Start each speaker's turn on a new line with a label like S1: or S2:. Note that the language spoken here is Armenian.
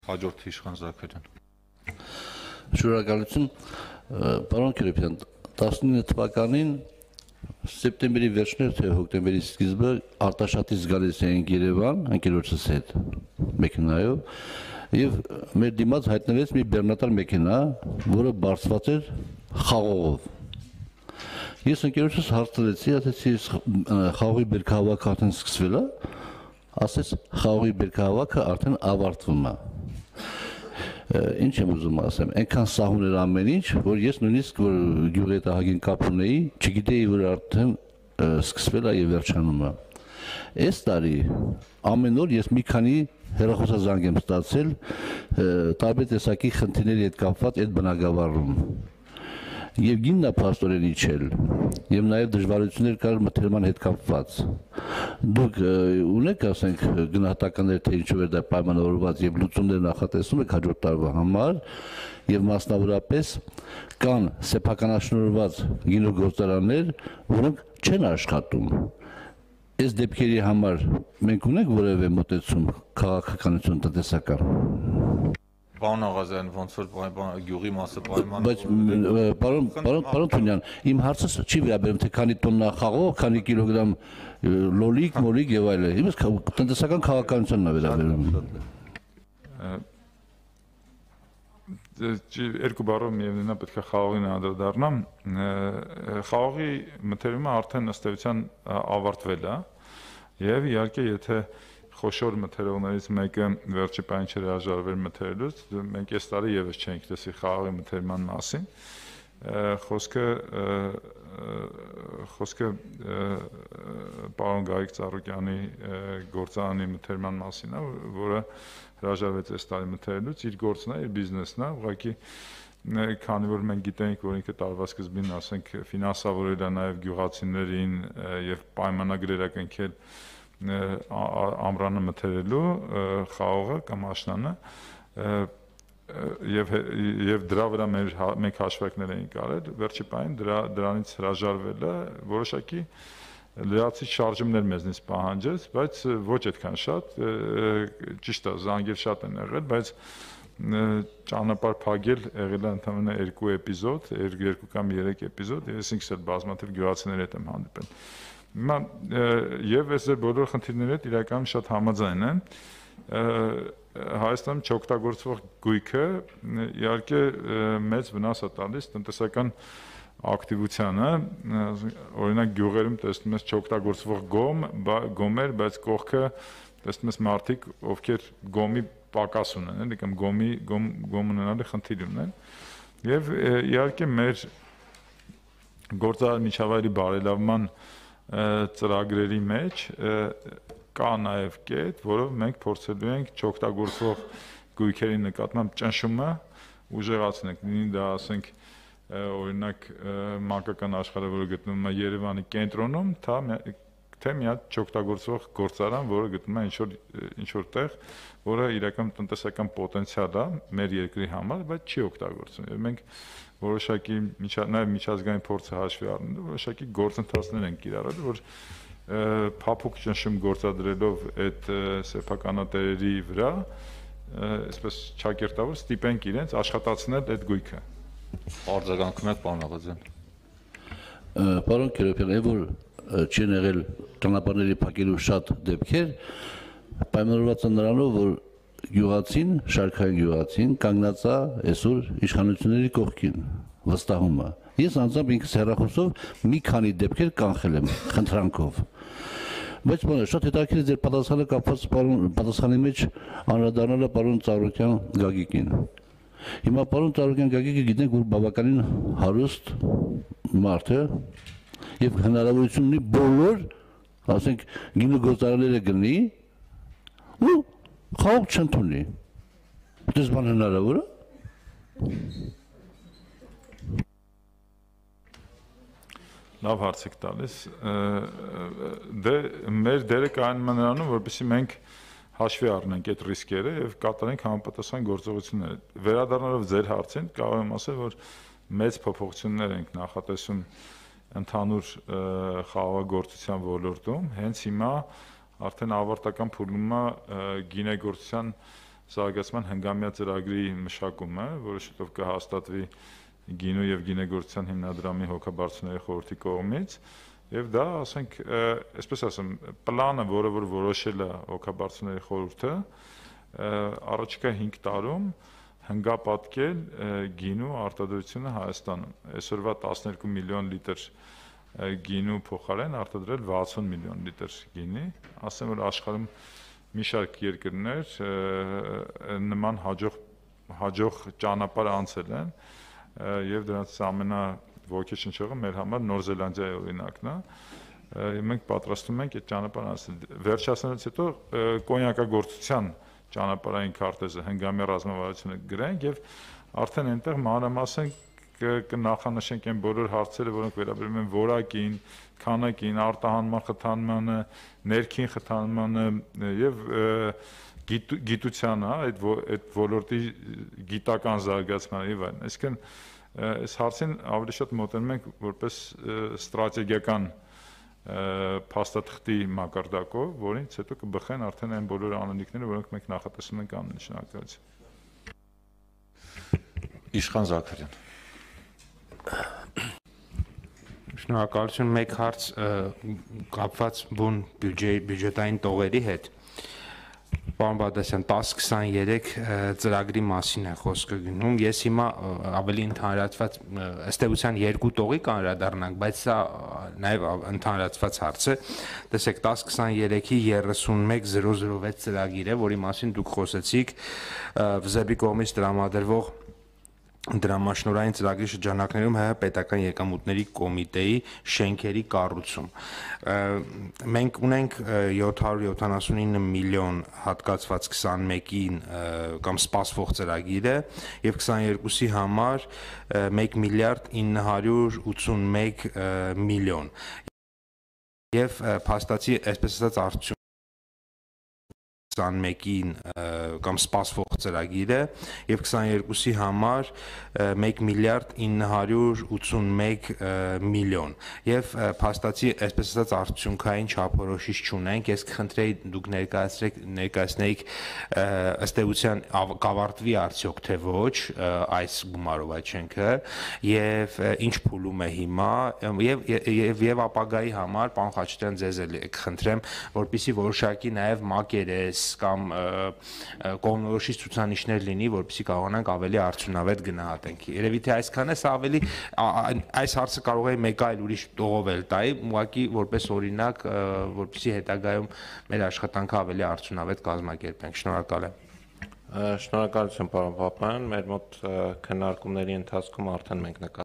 S1: Հաջորդ Իշխան Զաքարյան։
S2: Շնորհակալություն, պարոն Քիրոպյան, 19 թվականին սեպտեմբերի վերջներ թե հոկտեմբերի սկիզբը Արտաշատից գալիս էինք Երևան ընկերոջս հետ մեքենայով եւ մեր դիմաց հայտնվեց մի բեռնատար մեքենա, որը բարձված էր խաղողով։ Ես ընկերոջս հարցրեցի, ասեցի խաղողի բերքահավաքը արդեն սկսվել է, ասեց խաղողի բերքահավաքը արդեն ավարտվում է։ Ինչ եմ ուզում ասեմ, այնքան սահուն էր ամեն ինչ, որ ես նույնիսկ որ գյուղի հետ ահագին կապ ունեի, չգիտեի, որ արդեն սկսվել է եւ վերջանում է։ Այս տարի ամեն օր ես մի քանի հեռախոսազանգ եմ ստացել տարբեր տեսակի խնդիրների հետ կապված այդ բնակավարում։ Եվ գիննա փաստորեն իջել, եւ նաեւ դժվարություններ կար մթերման հետ կապված։ Դուք ունեք, ասենք, գնահատականներ, թե ինչով է դա պայմանավորված եւ լուծումներ նախատեսում եք հաջորդ տարվա համար, եւ մասնավորապես կան սեփականաշնորհված գինոգործարաններ, որոնք չեն աշխատում։ Այս դեպքերի համար մենք ունենք որևէ մոտեցում քաղաքականություն տնտեսական։
S1: Պարոն Աղազյան, ոնց որ գյուղի մասը պայման։
S2: Բայց պարոն Թունյան, իմ հարցը չի վերաբերում թե քանի տոննա խաղող, քանի կիլոգրամ լոլիկ, մոլիկ եւ այլն։ Իմս տնտեսական քաղաքականությունն է վերաբերում։
S3: Երկու բառով միևնույնն է պետք է խաղողին անդրադառնամ։ Խաղողի մթերումը արդեն ըստ էության ավարտվել է եւ իհարկե եթե խոշոր մթերողներից մեկը վերջի պահին չէր հրաժարվել մթերելուց, մենք այս տարի եւս չենք տեսի խաղողի մթերման մասին։ Խոսքը պարոն Գարիկ Ծառուկյանի գործարանի մթերման մասին է, որը հրաժարվեց այս տարի մթերելուց, իր գործն է, իր բիզնեսն է, ուղղակի քանի որ մենք գիտենք, որ ինքը տարվա սկզբին, ասենք, ֆինանսավորել է նաեւ գյուղացիներին եւ պայմանագրեր է կնքել ամրանը մթերելու խաղողը կամ աշնանը եւ դրա վրա մենք հաշվարկներ էինք արել վերջի պահին դրանից հրաժարվելը որոշակի լրացիչ շարժումներ մեզնից պահանջեց, բայց ոչ այդքան շատ, ճիշտ է, զանգեր շատ են եղել, բայց ճանապարհ փակել եղել է ընդամենը 2 էպիզոդ, 2 կամ 3 էպիզոդ, ես ինքս էլ բազմաթիվ գյուղացիների հետ եմ հանդիպել։ Հիմա եւ այս բոլոր խնդիրների հետ իրականում շատ համաձայն են։ Հայաստանում չօգտագործվող գույքը իհարկե մեծ վնաս է տալիս տնտեսական ակտիվությանը, օրինակ գյուղերում տեսնում ես չօգտագործվող գոմեր, բայց կողքը տեսնում ես մարդիկ, ովքեր գոմի պակաս ունեն, էլի կամ գոմ ունենալի խնդիր ունեն։ Եվ իհարկե մեր գործարար միջավայրի բարելավման ծրագրերի մեջ կա նաև կետ, որով մենք փորձելու ենք չօգտագործվող գույքերի նկատմամբ ճնշումը ուժեղացնել, լինի դա ասենք օրինակ մանկական աշխարհը, որը գտնվում է Երևանի կենտրոնում, թե մի հատ չօգտագործվող գործարան, որը գտնվում է ինչ-որ տեղ, որը իրական տնտեսական պոտենցիալ է մեր երկրի համար, բայց չի օգտագործվում։ Եվ մենք որոշակի նաև միջազգային փորձը հաշվի առնելով որոշակի գործընթացներ են կիրառել, որ փափուկ ճնշում գործադրելով այդ սեփականատերերի վրա, այսպես ճակերտավոր ստիպենք իրենց աշխատացնել այդ գույքը։
S1: Արձագանքում եք, պարոն Աղազյան։
S2: Պարոն Քիրոպյան, որ չեն եղել ճանապարհների փակելու շատ դեպքեր, պայմանավորված է նրանով, որ գյուղացին, շարքային գյուղացին կանգնած է այսօր իշխանությունների կողքին, վստահում է։ Ես անձամբ ինքս հեռախոսով մի քանի դեպքեր կանխել եմ խնդրանքով։ Բայց շատ հետաքրքիր է ձեր պատասխանը կապված պատասխանի մեջ անդրադառնալը պարոն Ծառուկյան Գագիկին։ Հիմա պարոն Ծառուկյան Գագիկը գիտենք, որ բավականին հարուստ մարդ է եւ հնարավորություն ունի բոլոր, ասենք, գինոգործարանները գտնի ու խաղող չընդունի։ Դες բան հնարավոր է։
S3: Լավ հարց եք տալիս։ Դե մեր դերը կայանում է նրանում, որպեսզի մենք հաշվի առնենք այդ ռիսկերը եւ կատարենք համապատասխան գործողություններ։ Վերադառնալով ձեր հարցին, կարող եմ ասել, որ մեծ փոփոխություններ ենք նախատեսում ընդհանուր խաղաղագործության ոլորտում, հենց հիմա արդեն ավարտական փուլում է գինեգործության զարգացման հնգամյա ծրագրի մշակումը, որը շուտով կհաստատվի գինու եւ գինեգործության հիմնադրամի հոգաբարձուների խորհրդի կողմից, եւ դա, ասենք, այսպես ասեմ, պլանը, որը որ որոշել է հոգաբարձուների խորհուրդը, առաջիկա 5 տարում հնգապատկել գինու արտադրությունը Հայաստանում։ Այսօրվա 12 միլիոն լիտր գինու փոխարեն արտադրել 60 միլիոն լիտր գինի, ասեմ, որ աշխարհում մի շարք երկրներ նման հաջող ճանապարհ անցել են եւ դրանց ամենաոգեշնչողը մեր համար Նոր Զելանդիայի օրինակն է։ Մենք պատրաստվում ենք այդ ճանապարհը անցնել։ Վերջացնելուց հետո կոնյակագործության ճանապարհային քարտեզը հնգամյա ռազմավարությունը գրենք եւ արդեն այնտեղ մանրամասն կնախանշենք այն բոլոր հարցերը, որոնք վերաբերում են որակին, քանակին, արտահանման խթանմանը, ներքին խթանմանը եւ գիտությանը, այդ ոլորտի գիտական զարգացմանը եւ այլն։ Այսինքն այս հարցին ավելի շատ մոտենում ենք որպես ստրատեգիական փաստաթղթի մակարդակով, որից հետո կբխեն արդեն այն բոլոր անելիքները, որոնք մենք նախատեսում ենք անել շնորհակալություն։
S1: Իշխան Զաքարյան։
S4: Շնորհակալություն, մեկ հարց կապված բուն բյուջետային տողերի հետ։ Պարոն Բադասյան, 1023 ծրագրի մասին է խոսքը գնում։ Ես հիմա ավելի ընդհանրացված ըստ էության երկու տողի կանրադառնանք, բայց սա նաև ընդհանրացված հարց է։ Տեսեք, 1023-ի 31006 ծրագիր է, որի մասին դուք խոսեցիք ՎԶԲ-ի կողմից տրամադրվող դրամաշնորհային ծրագրի շրջանակներում ՀՀ պետական եկամուտների կոմիտեի շենքերի կառուցում։ Մենք ունենք 779 միլիոն հատկացված 21-ին կամ սպասվող ծրագիրը եւ 22-ի համար 1 միլիարդ 981 միլիոն։ Եվ փաստացի, այսպես ասած, արդյունք 21-ին կամ սպասվող ծրագիրը եւ 22-ի համար 1 միլիարդ 981 միլիոն եւ փաստացի այսպես ասած արդյունքային չափորոշիչ չունենք։ Ես կխնդրեի դուք ներկայացնեիք ըստ էության կավարտվի արդյոք թե ոչ այս գումարով այդ շենքը եւ ինչ փուլում է հիմա եւ ապագայի համար պարոն Խաչատրյան ձեզ էլ կխնդրեմ, որպեսզի որոշակի նաեւ մակերես կամ կողմնորոշիչ ցուցանիշներ լինի, որպեսզի կարողանանք ավելի արդյունավետ գնահատենք։ Երևի թե այսքանը սա ավելի այս հարցը կարող է մեկ այլ ուրիշ տողով էլ տայի, ուղղակի որպես օրինակ, որպեսզի հետագայում մեր աշխատանքը ավելի արդյունավետ կազմակերպենք։ Շնորհակալ եմ։
S5: Շնորհակալություն, պարոն Պապայան, մեր մոտ քննարկումների ընթացքում արդեն մենք